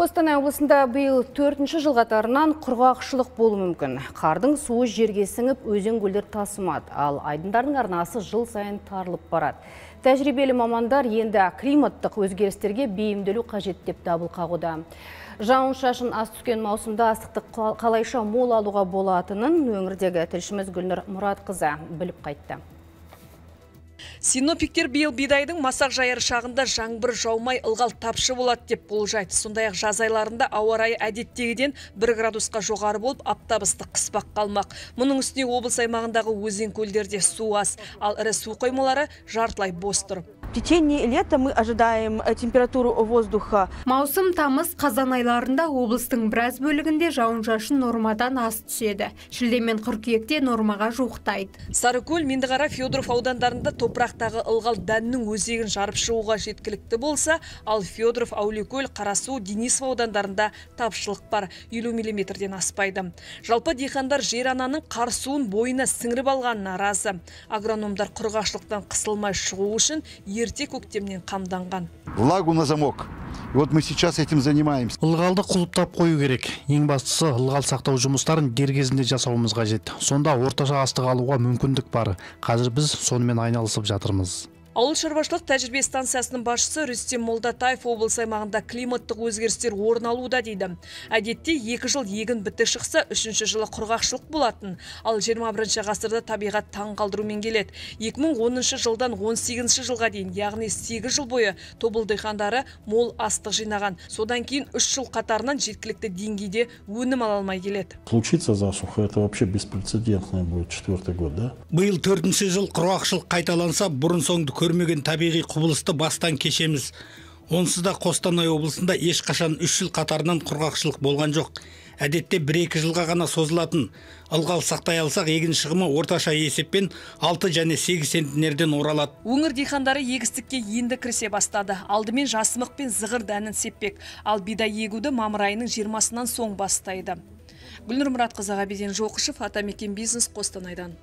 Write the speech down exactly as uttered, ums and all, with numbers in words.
Қостанай облысында биыл төртінші жыл қатарынан құрғақшылық болуы мүмкін. Қардың суы жерге сіңіп, өзен көлдер тасымады, ал айдындардың арнасы жыл сайын тарылып барады. Тәжірибелі мамандар енді климаттық өзгерістерге бейімделу қажет деп дабыл қағуда. Жауын-шашын аз түскен маусымда астықты қалайша мол алуға болатынын өңірдегі тілшіміз Гүлнұр Мұратқызы біліп қайтты. Синоптиктер биыл бидайдың масақ жайыр шағында жаңбыр жаумай ылғал тапшы болады деп болжайды. Сондай-ақ жаз айларында ауа райы әдеттегіден бір градусқа жоғары болып, аптап ыстық қыспақ қалмақ. Мұның үстіне облыс аймағындағы өзен көлдерде су аз, ал ірі су қоймалары жартылай бос тұр. В течение лета мы ожидаем температуру воздуха. Маусым, тамыз, қазан айларында облыстың біраз бөлігінде жауын-шашын нормадан аз түседі. Шілде мен қыркүйекте нормаға жуықтайды. Сарыкөл, Меңдіқара, Федоров аудандарында топырақтағы ылғал дәннің өзегін жарып шығуға жеткілікті болса, ал Федоров, Әулиекөл, Қарасу, Денисов аудандарында тапшылық бар, елу миллиметрден аспайды. Жалпы диқандар жер ананың қар суын бойына сіңіріп алғанына разы. Агрономдар құрғақшылықтан қысылмай шығу үшін ерте көктемнен қамданған. Влагу на замок. И вот мы сейчас этим занимаемся. Ылғалды құлыптап қою керек. Ең бастысы ылғал сақтау жұмыстарын дер кезінде жасауымыз қажет. Сонда орташа астық алуға мүмкіндік бар. Қазір біз сонымен айналысып жатырмыз. Ауыл шаруашылық тәжірибе станциясының басшысы Рүстем Молдатаев облыс аймағында климаттық өзгерістер орын алуда дейді. Әдетте екі жыл егін бітік шықса, үшінші жылы құрғақшылық болатын. Ал жиырма бірінші ғасырда табиғат таң қалдырумен келеді. екі мың оныншы жылдан он сегізінші жылға дейін, яғни сегіз жыл бойы тобыл диқандары мол астық жинаған. Содан кейін үш жыл қатарынан жеткілікті деңгейде өнім ала алмай келеді. Случится засуха, это вообще беспрецедентный будет четвертый год, да? Биыл төртінші жыл құрғақшылық қайталанса, бұрын соңды көрмеген табиғи құбылысты бастан кешеміз. Онсыз да Қостанай облысында ешқашан үш жыл қатарынан құрғақшылық болған жоқ. Әдетте бір-екі жылға ғана созылатын. Ылғал сақтай алсақ, егін шығымы орташа есеппен алты және сегіз центнерден оралады. Өңір диқандары егістікке енді кірісе бастады. Алдымен жасымық пен зығыр дәнін сеппек, ал бидай егуді мамыр айының жиырмасынан соң бастайды. Гүлнұр Мұратқызы, Ғабиден Жоқышев, Атамекен бизнес, Қостанайдан.